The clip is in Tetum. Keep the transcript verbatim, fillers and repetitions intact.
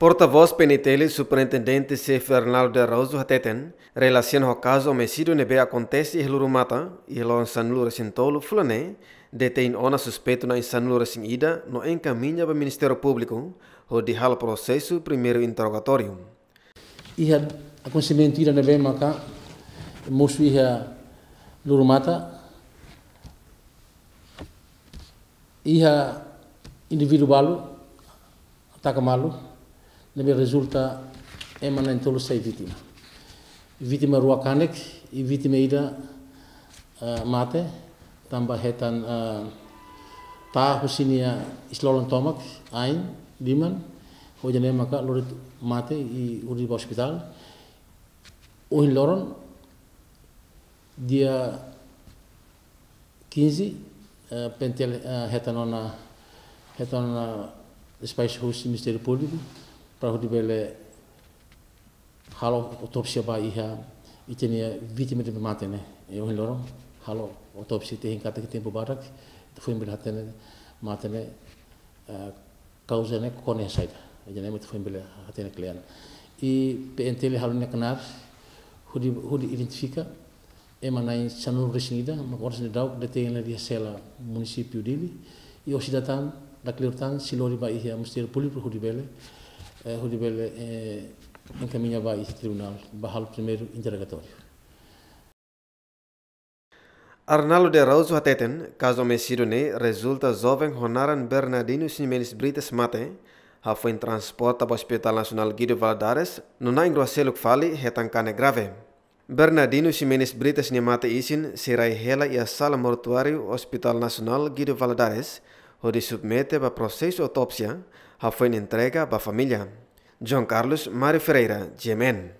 Portavós P N T L, Superintendente Xefe Arnaldo de Araújo hateten, relasiona ho kazu omesídiu ne'ebé akontese iha Lurumata, iha loron sanulu-resin-tolu fulan ne'e, detein ona suspeitu na'in sanulu-resin-ida no enkamiña ba Ministériu Públiku, hodi halo prosesu primeiru interrogatóriu. Iha akontesimentu ida ne'ebé maka mosu iha Lurumata, iha indivíduu balu taka malu, ne'ebé rezulta ema na'in-tolu sai vítima. Vítima rua kanek, i vítima ida, eh, mate, tanba hetan, eh, ta'a husi nia isin-lolon tomak, ain, liman, hodi ne'e maka lori mate i hodi ba ospitál. Ohin loron, dia quinze, eh, P N T L, eh, hetan ona, hetan ona despaxu husi Ministériu Públiku, para hodi bele halo autópsia ba iha ita-nia vítima ne'ebé mate ne'e. I ohin loron, halo autópsia, ita hein katak tempu badak, ita foin bele hatene mate ne'e, eh, kauza ne'e kona saida. Ida-ne'e mak ita foin bele hatene kle'an. I P N T L halo nia knaar, hodi, hodi identifika ema na'in sanulu-resin-ida, mak oras ne'e daudaun detein iha sela munisípiu Dili, i oras ida tan, dakleur tan, sei lori ba iha Ministériu Públiku hodi bele, eh, hodi bele, eh, enkamiña ba iha tribunál, ba halo primeiru interrogatóriu. Arnaldo de Araújo hateten, kazu omesídiu ne'e rezulta joven ho naran Bernardino Ximenes Brites mate, hafoin transporta ba Hospital Nasionál Guido Valadares, no na'in rua seluk fali hetan kanek grave. Bernardino Ximenes Brites nia mate isin sei rai hela iha sala mortuáriu Hospital Nasionál Guido Valadares, hodi submete ba prosesu autópsia, hafoin entrega ba família. João Carlos Mário Ferreira, G M N.